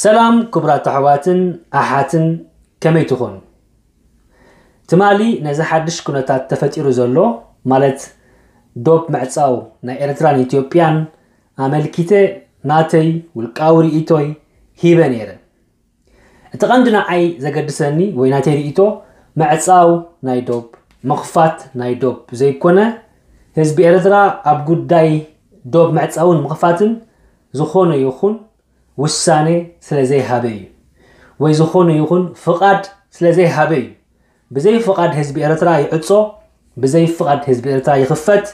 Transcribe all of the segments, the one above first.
ሰላም ክቡራት ኣሕዋትን ኣሓትን፣ ከመይ ትኾኑ? ትማሊ ነዚ ሓድሽ ኩነታት ተፈጢሩ ዘሎ፣ ማለት ዶብ ምዕጻው ናይ ኤርትራን ኢትዮጵያን ኣመልኪተ ናተይ ውልቃዊ ርእይቶይ ሂበ ነይረ። እቲ ቀንዲ ንዓይ ዘገድሰኒ ወይ ናተይ ርእይቶ ምዕጻው ናይ ዶብ፣ ምኽፋት ናይ ዶብ ዘይኮነ፣ ህዝቢ ኤርትራ ኣብ ጉዳይ ዶብ ምዕጻውን ምኽፋትን ዝኾነ ይኹን ውሳኔ ስለ ዘይሃበ እዩ፣ ወይ ዝኾነ ይኹን ፍቓድ ስለ ዘይሃበ እዩ። ብዘይ ፍቓድ ህዝቢ ኤርትራ ይዕጾ፣ ብዘይ ፍቓድ ህዝቢ ኤርትራ ይኽፈት፣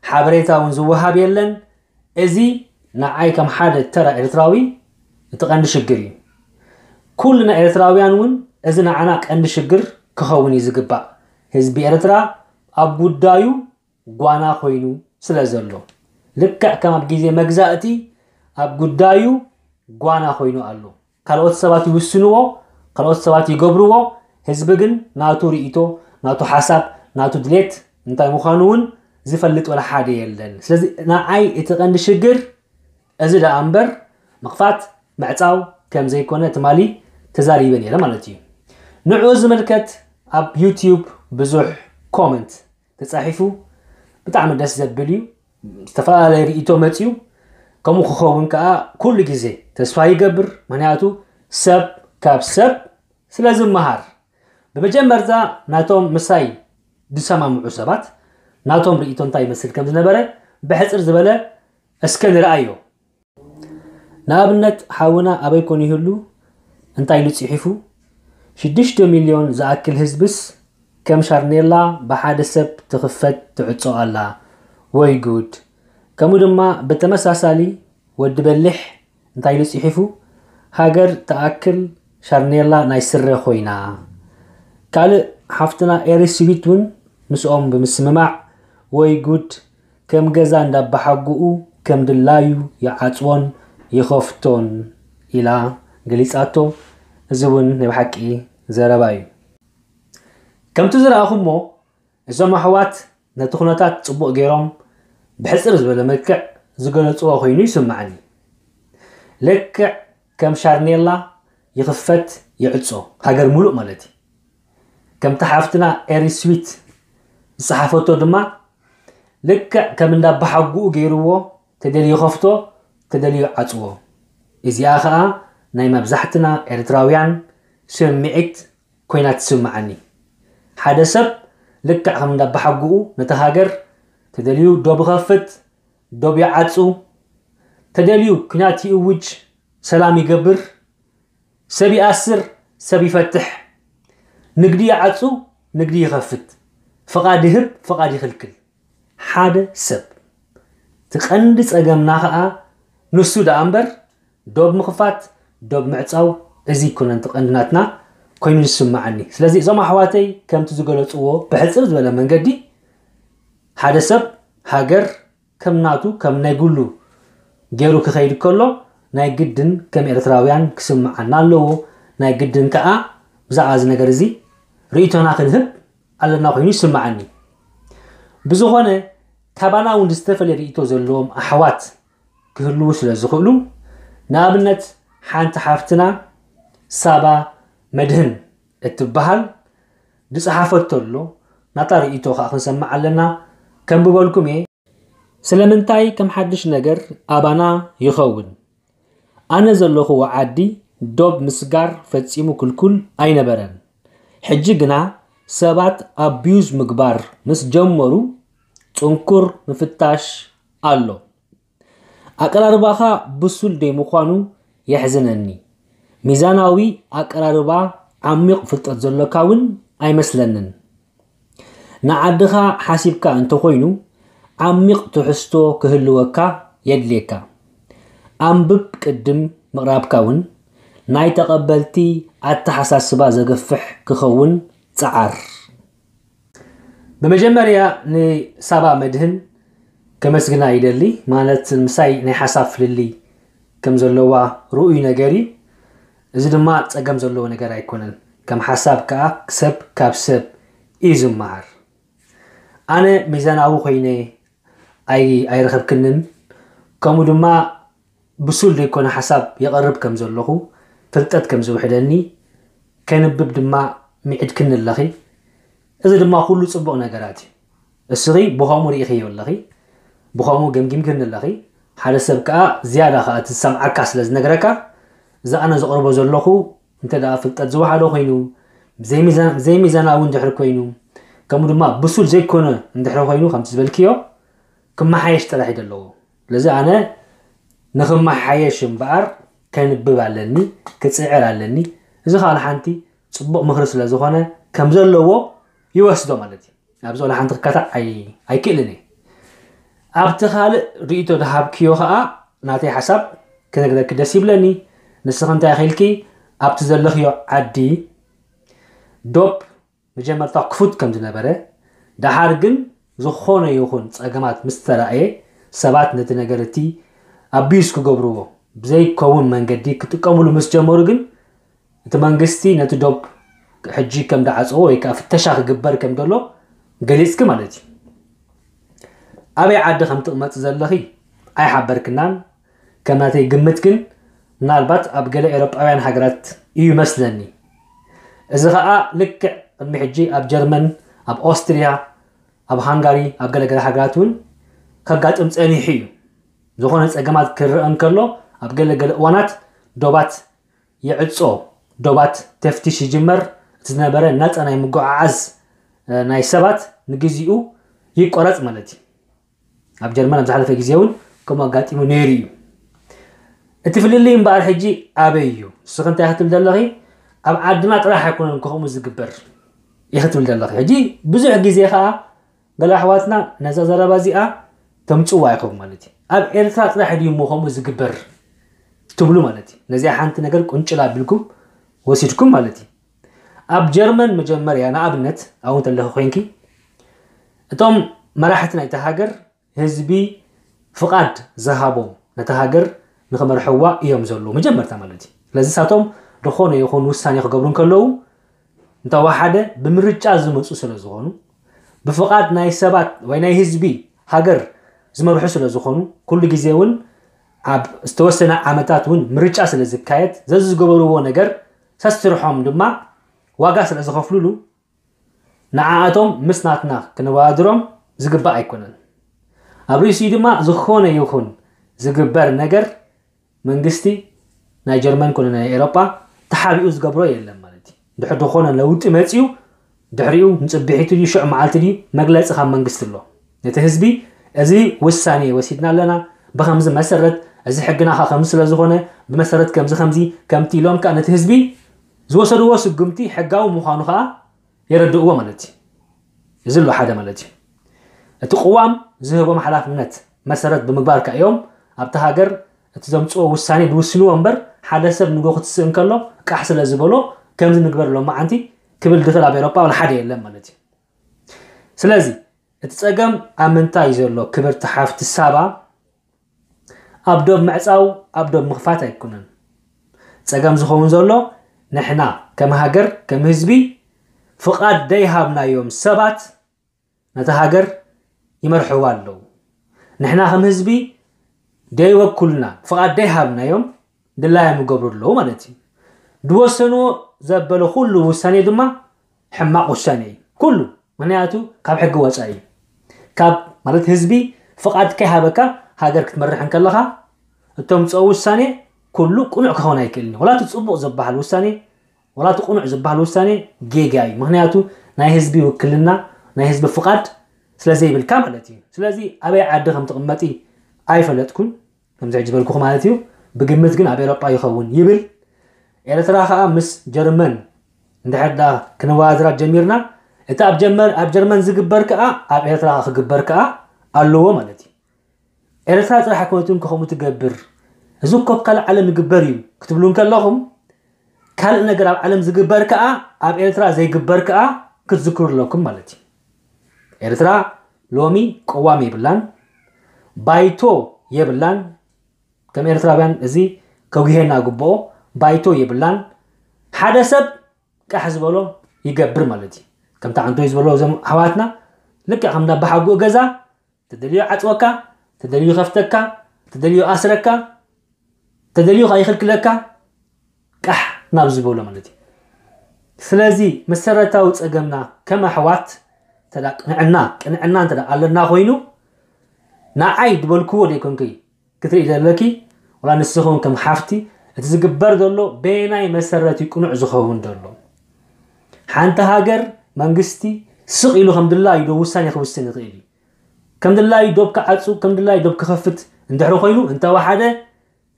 ሓበሬታ እውን ዝወሃብ የለን። እዚ ንዓይ ከም ሓደ ተራ ኤርትራዊ እቲ ቀንዲ ሽግር እዩ። ኩልና ኤርትራውያን እውን እዚ ንዓና ቀንዲ ሽግር ክኸውን እዩ ዝግባእ። ህዝቢ ኤርትራ ኣብ ጉዳዩ ጓና ኮይኑ ስለ ዘሎ፣ ልክዕ ከም ኣብ ግዜ መግዛእቲ ኣብ ጉዳዩ ጓና ኮይኑ ኣሎ። ካልኦት ሰባት ይውስንዎ፣ ካልኦት ሰባት ይገብርዎ። ህዝቢ ግን ናቱ ርእይቶ፣ ናቱ ሓሳብ፣ ናቱ ድሌት እንታይ ምዃኑ እውን ዝፈልጥ ወላ ሓደ የለን። ስለዚ ንዓይ እቲ ቀንዲ ሽግር እዚ ደኣ እምበር ምኽፋት ምዕጻው ከም ዘይኮነ ትማሊ ተዛሪበ ነይረ ማለት እዩ። ንዕኡ ዝምልከት ኣብ ዩትዩብ ብዙሕ ኮመንት ተጻሒፉ፣ ብጣዕሚ ደስ ዘብል እዩ። ዝተፈላለየ ርእይቶ መጽዩ። ከምኡ ክኸውን ከኣ ኩሉ ግዜ ተስፋ ይገብር፣ ምኽንያቱ ሰብ ካብ ሰብ ስለ ዝመሃር። ብመጀመርታ ናቶም ምሳይ ዝሰማምዑ ሰባት ናቶም ርእይቶ እንታይ ይመስል ከም ዝነበረ ብሕጽር ዝበለ እስከ ንርኣዮ። ንኣብነት ሓውና ኣበይ ኮን ይህሉ እንታይ ኢሉ ጽሒፉ? ሽዱሽተ ሚልዮን ዝኣክል ህዝብስ ከም ሻርኔላ ብሓደ ሰብ ትኽፈት ትዕጾ ኣላ። ወይ ጉድ። ከምኡ ድማ ብተመሳሳሊ ወዲ በሊሕ እንታይ ኢሉ ጽሒፉ? ሃገር ትኣክል ሻርኔላ ናይ ስረ ኮይና። ካልእ ሓፍትና ኤሪ ስዊት እውን ምስኦም ብምስምማዕ ወይ ጉድ ከም ገዛ እንዳባሓጉኡ ከም ድላዩ ይዓጽዎን ይኸፍቶን ኢላ ገሊጻቶ። እዚ እውን ናይ ብሓቂ ዘረባ እዩ። ከምቲ ዝረኣኹሞ እዞም ኣሕዋት ነቲ ኩነታት ጽቡቕ ገይሮም ብሕጽር ዝበለ መልክዕ ዝገለጽዎ ኮይኑ ይስምዓኒ። ልክዕ ከም ሻርኔላ ይኽፈት ይዕጾ፣ ሃገር ሙሉእ ማለት እዩ። ከምቲ ሓፍትና ኤሪ ስዊት ዝጸሓፈቶ ድማ ልክዕ ከም እንዳባሓጉኡ ገይርዎ፣ ተደልዩ ይኸፍቶ፣ ተደልዩ ይዓጽዎ። እዚኣ ኸኣ ናይ መብዛሕትና ኤርትራውያን ስምዒት ኮይና ትስምዓኒ። ሓደ ሰብ ልክዕ ከም እንዳባሓጉኡ ነቲ ሃገር ተደልዩ ዶብ ይኸፍት፣ ዶብ ይዓጹ፣ ተደልዩ ኲናት ይእውጅ፣ ሰላም ይገብር፣ ሰብ ይኣስር፣ ሰብ ይፈትሕ፣ ንግዲ ይዓጹ፣ ንግዲ ይኸፍት፣ ፍቓድ ይህብ፣ ፍቓድ ይኽልክል። ሓደ ሰብ። እቲ ቀንዲ ጸገምና ኸኣ ንሱ ደኣ እምበር ዶብ ምኽፋት፣ ዶብ ምዕጻው፣ እዚ ኣይኮነን እቲ ቀንዲ ናትና ኮይኑ ዝስምዓኒ። ስለዚ እዞም ኣሕዋተይ ከምቲ ዝገለጽዎ ብሕጽር ዝበለ መንገዲ ሓደ ሰብ ሃገር ከም ናቱ፣ ከም ናይ ግሉ ገይሩ ክኸይድ ከሎ ናይ ግድን ከም ኤርትራውያን ክስምዓና ኣለዎ። ናይ ግድን ከኣ ብዛዕባ እዚ ነገር እዚ ርእይቶና ክንህብ ኣለና ኮይኑ ይስምዓኒ። ብዝኾነ ካባና እውን ዝተፈለየ ርእይቶ ዘለዎም ኣሕዋት ክህልዉ ስለ ዝኽእሉ፣ ንኣብነት ሓንቲ ሓፍትና ሳባ መድህን እትበሃል ዝጸሓፈቶ ኣሎ። ናታ ርእይቶ ከኣ ክንሰምዕ ኣለና። ከንብበልኩም እየ። ስለምንታይ ከም ሓድሽ ነገር ኣባና ይኸውን? ኣነ ዘለኹዎ ዓዲ ዶብ ምስጋር ፈጺሙ ክልኩል ኣይነበረን። ሕጂ ግና ሰባት ኣቢዩዝ ምግባር ምስ ጀመሩ ጽንኩር ምፍታሽ ኣሎ። ኣቀራርባኻ ብሱል ደይምዃኑ የሕዝነኒ። ሚዛናዊ ኣቀራርባ ዓሚቕ ፍልጠት ዘሎካ እውን ኣይመስለንን። ንዓድኻ ሓሲብካ እንተኾይኑ ዓሚቕ ትሕዝቶ ክህልወካ የድልየካ። ኣንብብ ቅድም ምቕራብካ እውን ናይ ተቐበልቲ ኣተሓሳስባ ዘግፍሕ ክኸውን ጸዓር። ብመጀመርያ ንሳባ መድህን ከመስግና ይደሊ። ማለት ምሳይ ናይ ሓሳብ ፍልልይ ከም ዘለዋ ርኡይ ነገር እዩ። እዚ ድማ ጸገም ዘለዎ ነገር ኣይኮነን። ከም ሓሳብ ከኣ ሰብ ካብ ሰብ እዩ ዝመሃር። ኣነ ሚዛናዊ ኮይነ ኣይ ኣይረኸብክንን፣ ከምኡ ድማ ብሱል ዘይኮነ ሓሳብ የቕርብ ከም ዘለኹ ፍልጠት ከም ዝውሕደኒ፣ ከንብብ ድማ ምዒድክኒ ኣለኺ። እዚ ድማ ኩሉ ጽቡቕ ነገራት እዩ። እስኺ ብኸምኡ ርኢኽዮ ኣለኺ፣ ብኸምኡ ገምጊምክኒ ኣለኺ። ሓደ ሰብ ከኣ ዝያዳ ከኣ እቲ ዝሰምዓካ ስለ ዝነግረካ፣ እዚ ኣነ ዘቕርቦ ዘለኹ እንተ ደኣ ፍልጠት ዝወሓዶ ኮይኑ፣ ብዘይሚዛን-፣ ብዘይሚዛናዊ እንድሕር ኮይኑ፣ ከምኡ ድማ ብሱል ዘይኮነ እንድሕር ኮይኑ፣ ከምቲ ዝበልክዮ፣ ክመሓየሽ ጥራሕ እዩ ዘለዎ። ስለዚ ኣነ ንኽመሓየሽ እምበኣር ከንብብ ኣለኒ፣ ክጽዕር ኣለኒ። እዚ ከኣ ሓንቲ ጽቡቕ ምኽሪ ስለ ዝኾነ ከም ዘለዎ ይወስዶ ማለት እዩ። ኣብዚ ወላ ሓንቲ ክካታዕ ኣይ-፣ ኣይክእልን እየ። ኣብቲ ካልእ ርእይቶ ዝሃብክዮ ከኣ ናተይ ሓሳብ ክነግረኪ ደስ ይብለኒ። ንስኺ እንታይ ኢኺ ኢልኪ ኣብቲ ዘለኽዮ ዓዲ ዶብ መጀመርታ ክፉት ከም ዝነበረ፣ ደሓር ግን ዝኾነ ይኹን ጸገማት ምስ ተራእየ፣ ሰባት ነቲ ነገር እቲ ኣቢዩዝ ክገብርዎ፣ ብዘይከውን መንገዲ ክጥቀምሉ ምስ ጀመሩ ግን፣ እቲ መንግስቲ ነቲ ዶብ ሕጂ ከም ደዓጽዎ ወይ ከኣ ፍተሻ ክግበር ከም ዘሎ ገሊጽኪ ማለት እዩ። ኣበይ ዓዲ ከም ትቕመጢ ዘለኺ ኣይሓበርክናን። ከም ናተይ ግምት ግን ምናልባት ኣብ ገለ ኤውሮጳውያን ሃገራት እዩ መስለኒ። እዚ ኸኣ ልክዕ ቅድሚ ሕጂ ኣብ ጀርመን፣ ኣብ ኦስትርያ፣ ኣብ ሃንጋሪ፣ ኣብ ገለገለ ሃገራት እውን ከጋጥም ጸኒሑ እዩ። ዝኾነ ጸገማት ክረአ እንከሎ ኣብ ገለገለ እዋናት ዶባት ይዕጾ፣ ዶባት ተፍቲሽ ይጅመር፣ እቲ ዝነበረ ናጻ ናይ ምጉዕዓዝ፣ እ፣ ናይ ሰባት ንግዚኡ ይቆረጽ ማለት እዩ። ኣብ ጀርመን ኣብ ዝሓለፈ ግዜ እውን ከምኡ ኣጋጢሙ ነይሩ እዩ። እቲ ፍልልይ እምበኣር ሕጂ ኣበይ እዩ? ንስኺ እንታይ ክትብል ዘለኺ? ኣብ ዓድና ጥራሕ ኣይኮነን ከምኡ ዝግበር ኢኺ ትብል ዘለኺ። ሕጂ ብዙሕ ግዜ ኸኣ ገለ ኣሕዋትና ነዛ ዘረባ እዚኣ ተምጽዋ ኢኹም ማለት እዩ። ኣብ ኤርትራ ጥራሕ ድዩ እሞ ከምኡ ዝግበር ትብሉ ማለት እዩ። ነዚኣ ሓንቲ ነገር ቁንጭል ኣቢልኩም ወሲድኩም ማለት እዩ። ኣብ ጀርመን መጀመርያ ንኣብነት ኣብኡ እንተለኺ ኮይንኪ፣ እቶም መራሕቲ ናይቲ ሃገር ህዝቢ ፍቓድ ዝሃቦም ነታ ሃገር ንኽመርሕዋ እዮም ዘለዉ መጀመርታ ማለት እዩ። ስለዚ ንሳቶም ዝኾነ ይኹን ውሳኔ ክገብሩ እንከለዉ እንተወሓደ ብምርጫ ዝመጹ ስለ ዝኾኑ፣ ብፍቓድ ናይ ሰባት ወይ ናይ ህዝቢ ሃገር ዝመርሑ ስለ ዝኾኑ፣ ኩሉ ግዜ እውን ኣብ ዝተወሰነ ዓመታት እውን ምርጫ ስለ ዝካየድ፣ ዘዝገበርዎ ነገር ሰስርሖም ድማ ዋጋ ስለ ዝኸፍሉሉ፣ ንዓኣቶም ምስ ናትና ክነወዳድሮም ዝግባእ ኣይኮነን። ኣብ ርእሲኡ ድማ ዝኾነ ይኹን ዝግበር ነገር መንግስቲ ናይ ጀርመን ኮነ ናይ ኤውሮጳ ተሓቢኡ ዝገብሮ የለን ማለት እዩ። ድሕሪ ዝኾነ ለውጢ መጺኡ ድሕሪኡ ንጽብሒቱ ድዩ ሽዑ መዓልቲ ድዩ መግለጺ ካብ መንግስቲ ኣሎ። ነቲ ህዝቢ እዚ ውሳኔ ወሲድና ኣለና፣ ብኸምዚ መሰረት እዚ ሕግና ኸ ከምዚ ስለ ዝኾነ ብመሰረት ከምዚ ከምዚ ከምቲ ኢሎም ከኣ ነቲ ህዝቢ ዝወሰድዎ ስጉምቲ ሕጋዊ ምዃኑ ኸኣ የረድእዎ ማለት እዩ። እዚ ኣሎ ሓደ ማለት እዩ። እቲ ቅዋም ዝህቦም ሓላፍነት መሰረት ብምግባር ከኣ እዮም ኣብቲ ሃገር እቲ ዘምጽኦ ውሳኔ ዝውስንዎ እምበር ሓደ ሰብ ንጎ ክትስእ እንከሎ ቃሕ ስለ ዝበሎ ከምዚ ንግበር ሎማዓንቲ ክብል ዝኽእል ኣብ ኤውሮጳ ዋላ ሓደ የለን ማለት እዩ። ስለዚ እቲ ጸገም ኣብ ምንታይ እዩ ዘሎ? ክብርቲ ሓፍቲ ሳባ፣ ኣብ ዶብ ምዕጻው ኣብ ዶብ ምኽፋት ኣይኮነን። ጸገም ዝኸውን ዘሎ ንሕና ከም ሃገር ከም ህዝቢ ፍቓድ ደይሃብናዮም ሰባት ነታ ሃገር ይመርሕዋ ኣለዉ። ንሕና ከም ህዝቢ ደይወኩልና ፍቓድ ደይሃብናዮም ድላዮም ይገብሩ ኣለዉ ማለት እዩ። ዝወሰንዎ ዘበለ ኩሉ ውሳኔ ድማ ሕማቕ ውሳኔ እዩ። ኩሉ ምኽንያቱ ካብ ሕጊ ወጻኢ እዩ። ካብ ማለት ህዝቢ ፍቓድ ከይሃበካ ሃገር ክትመርሕ እንከለኻ እቶም ዝፀው ውሳኔ ኩሉ ቅኑዕ ክኸውን ኣይክእልን እዩ። ወላ እቲ ፅቡቕ ዝበሃል ውሳኔ ወላ እቲ ቅኑዕ ዝበሃል ውሳኔ ጌጋ እዩ። ምኽንያቱ ናይ ህዝቢ ውክልና ናይ ህዝቢ ፍቓድ ስለ ዘይብልካ ማለት እዩ። ስለዚ ኣበይ ዓዲ ከም ትቕመጢ ኣይፈለጥኩን። ከምዚ ሕጂ በልኩኹ ማለት እዩ። ብግምት ግን ኣብ ኤሮጳ ይኸውን ይብል። ኤርትራ ከኣ ምስ ጀርመን እንድሕር ደኣ ክነወዳድራ ጀሚርና እቲ ኣብ ጀመር ኣብ ጀርመን ዝግበር ከኣ ኣብ ኤርትራ ክግበር ከኣ ኣለዎ ማለት እዩ። ኤርትራ ጥራሕ ኣይኮነትን ከምኡ ትገብር፣ እዚ እኮ ኣብ ካልእ ዓለም ይግበር እዩ ክትብሉ እንከለኹም ካልእ ነገር ኣብ ዓለም ዝግበር ከኣ ኣብ ኤርትራ ዘይግበር ከኣ ክትዝክሩ ኣለኩም ማለት እዩ። ኤርትራ ሎሚ ቅዋም የብላን፣ ባይቶ የብላን። ከም ኤርትራውያን እዚ ከጉሄና ግብኦ። ባይቶ የብላን። ሓደ ሰብ ቃሕ ዝበሎ ይገብር ማለት እዩ። ከምቲ ዓንቶይ ዝበሎ እዞም ኣሕዋትና ልክዕ ከም እንዳባሓጉኡ ገዛ ተደልዩ ዓፅወካ፣ ተደልዩ ከፍተካ፣ ተደልዩ ኣስረካ፣ ተደልዩ ከይኽልክለካ ቃሕ ናብ ዝበሎ ማለት እዩ። ስለዚ መሰረታዊ ጸገምና ከም ኣሕዋት እንተ ደኣ ቅንዕና፣ ቅንዕና እንተ ደኣ ኣለና ኮይኑ፣ ንዓይ ዝበልክዎ ዘይኮንኩይ ክትርኢ ዘለኪ፣ ወላ ንስኹም ከም ሓፍቲ፣ እቲ ዝግበር ዘሎ በየናይ መሰረት እዩ ቅኑዕ ዝኸውን ዘሎ? ሓንቲ ሃገር፣ መንግስቲ ስቕ ኢሉ ከም ድላዩ ዶ ውሳኔ ክውስን ይኽእል እዩ? ከም ድላዩ ዶብ ክዓጹ፣ ከም ድላዩ ዶብ ክኸፍት እንድሕሪ ኮይኑ፣ እንተወሓደ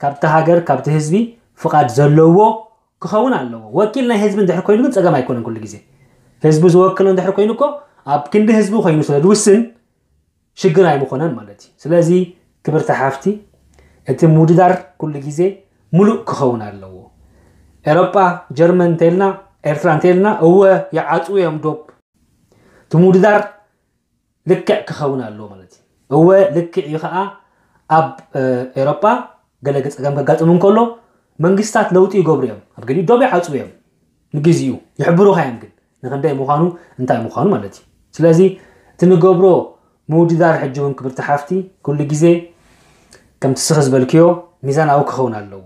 ካብቲ ሃገር፣ ካብቲ ህዝቢ ፍቓድ ዘለዎ ክኸውን ኣለዎ። ወኪል ናይ ህዝቢ እንድሕር ኮይኑ ግን ጸገም ኣይኮነን። ኩሉ ግዜ ህዝቢ ዝወክሎ እንድሕር ኮይኑ እኮ ኣብ ክንዲ ህዝቢ ኮይኑ ስለ ዝውስን ሽግር ኣይምኾነን ማለት እዩ። ስለዚ ክብርቲ ሓፍቲ፣ እቲ ምውድዳር ኩሉ ግዜ ሙሉእ ክኸውን ኣለዎ። ኤሮጳ፣ ጀርመን እንተልና፣ ኤርትራ እንተልና፣ እወ ይዓጽዉ እዮም ዶብ። እቲ ምውድዳር ልክዕ ክኸውን ኣለዎ ማለት እዩ። እወ ልክዕ እዩ። ኸኣ ኣብ ኤሮጳ ገለ ጸገም ከጋጥም እንከሎ መንግስታት ለውጢ ይገብሩ እዮም። ኣብ ገሊኡ ዶብ ይዓጽዉ እዮም፣ ንግዚኡ ይሕብሩኻ እዮም፣ ግን ንክንደይ ምዃኑ፣ እንታይ ምዃኑ ማለት እዩ። ስለዚ እቲ ንገብሮ ምውድዳር ሕጂ እውን ክብርቲ ሓፍቲ ኩሉ ግዜ ከምቲ ስኺ ዝበልክዮ ሚዛናዊ ክኸውን ኣለዎ።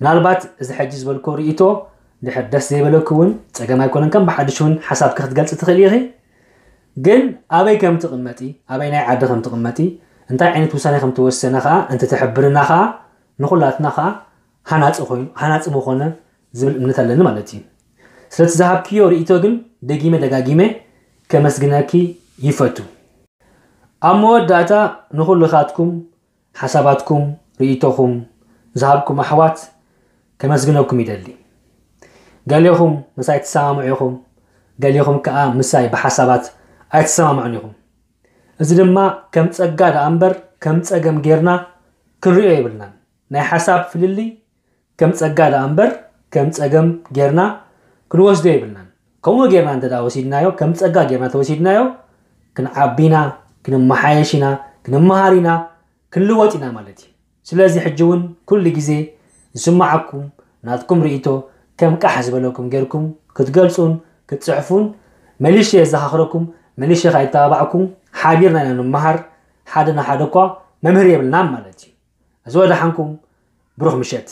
ምናልባት እዚ ሕጂ ዝበልክዎ ርእይቶ ድሕር ደስ ዘይበለኪ እውን ጸገም ኣይኮነን፣ ከም ብሓድሽ እውን ሓሳብኪ ክትገልጺ ትኽእሊ ኢኺ። ግን ኣበይ ከም ትቕመጢ፣ ኣበይ ናይ ዓዲ ከም ትቕመጢ፣ እንታይ ዓይነት ውሳኔ ከም ትወሰነ ከኣ እንተ ትሕብርና ከኣ ንኹላትና ከኣ ሃናጺ ኮይኑ፣ ሃናጺ ምኾነ ዝብል እምነት ኣለኒ ማለት እዩ። ስለቲ ዝሃብክዮ ርእይቶ ግን ደጊመ ደጋጊመ ከመስግነኪ ይፈቱ። ኣብ መወዳእታ ንኹልኻትኩም ሓሳባትኩም፣ ርእይቶኹም ዝሃብኩም ኣሕዋት ከመስግነኩም ይደሊ። ገሊኹም ምሳይ ትሰማምዑ ኢኹም፣ ገሊኹም ከኣ ምሳይ ብሓሳባት ኣይትሰማምዑን ኢኹም። እዚ ድማ ከም ጸጋ ደኣ እምበር ከም ጸገም ጌርና ክንርእዮ የብልናን። ናይ ሓሳብ ፍልልይ ከም ጸጋ ደኣ እምበር ከም ጸገም ጌርና ክንወስዶ የብልናን። ከምኡ ጌርና እንተ ደኣ ወሲድናዮ፣ ከም ጸጋ ጌርና ተወሲድናዮ፣ ክንዓቢ ኢና፣ ክንመሓየሽ ኢና፣ ክንመሃር ኢና፣ ክንልወጥ ኢና ማለት እዩ። ስለዚ ሕጂ እውን ኩሉ ግዜ ዝስምዓኩም ናትኩም ርእይቶ ከም ቃሕ ዝበለኩም ጌርኩም ክትገልጹን ክትጽሕፉን መሊሸ የዘኻኽረኩም፣ መሊሸ ከኣ ይተባባዕኩም፣ ሓቢርና ኢና ንመሃር፣ ሓደ ንሓደ እኳ መምህር የብልናን ማለት እዩ። እዚ ወደሓንኩም፣ ብሩኽ ምሸት።